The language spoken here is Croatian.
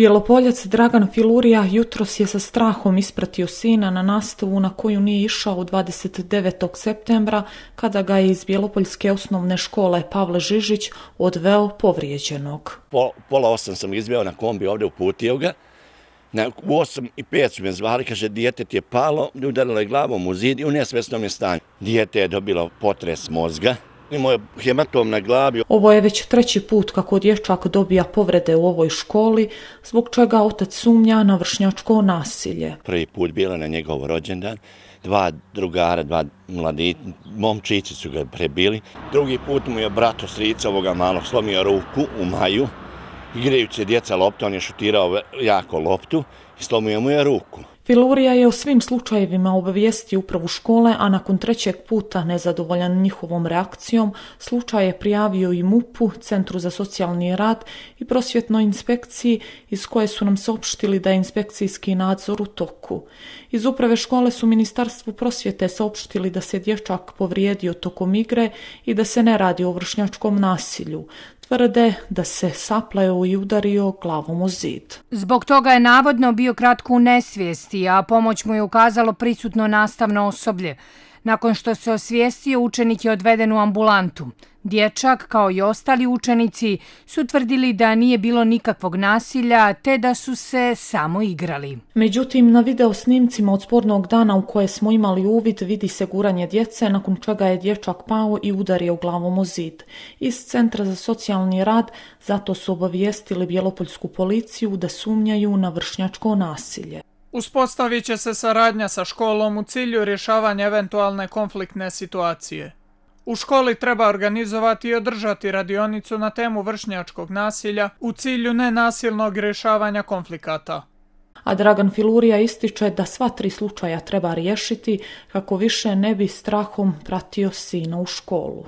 Bjelopoljac Dragan Filurija jutros je sa strahom ispratio sina na nastavu na koju nije išao 29. septembra kada ga je iz Bjelopoljske osnovne škole Pavle Žižić odveo povrijeđenog. Pola 8 sam izveo na kombi, ovdje uputio ga. U 8:05 su me zvali, kaže, dijete ti je palo, udarilo je glavom u zid i u nesvjesnom je stanju. Dijete je dobilo potres mozga. Imao je hematom na glavi. Ovo je već treći put kako dječak dobija povrede u ovoj školi, zbog čega otac sumnja na vršnjačko nasilje. Prvi put bilo na njegov rođendan, 2 drugara, 2 mladi momčići su ga prebili. Drugi put mu je brat od strica ovoga malog slomio ruku u maju. Igrajući djeca loptu, on je šutirao jako loptu i slomio mu je ruku. Filurija je o svim slučajevima obavijestio upravu škole, a nakon trećeg puta, nezadovoljan njihovom reakcijom, slučaj je prijavio i MUP-u, Centru za socijalni rad i prosvjetnoj inspekciji, iz koje su nam saopštili da je inspekcijski nadzor u toku. Iz uprave škole su Ministarstvu prosvjete saopštili da se dječak povrijedio tokom igre i da se ne radi o vršnjačkom nasilju. Tvrde da se sapleo i udario glavom u zid. Zbog toga je navodno bio kratko u nesvijesti, a pomoć mu je ukazalo prisutno nastavno osoblje. Nakon što se osvijestio, učenik je odveden u ambulantu. Dječak, kao i ostali učenici, su tvrdili da nije bilo nikakvog nasilja, te da su se samo igrali. Međutim, na video snimcima od spornog dana u koje smo imali uvid vidi se guranje djece, nakon čega je dječak pao i udario glavom u zid. Iz Centra za socijalni rad zato su obavijestili Bjelopoljsku policiju da sumnjaju na vršnjačko nasilje. Uspostavit će se saradnja sa školom u cilju rješavanja eventualne konfliktne situacije. U školi treba organizovati i održati radionicu na temu vršnjačkog nasilja u cilju nenasilnog rješavanja konflikata. A Dragan Filurija ističe da sva 3 slučaja treba riješiti kako više ne bi strahom pratio sina u školu.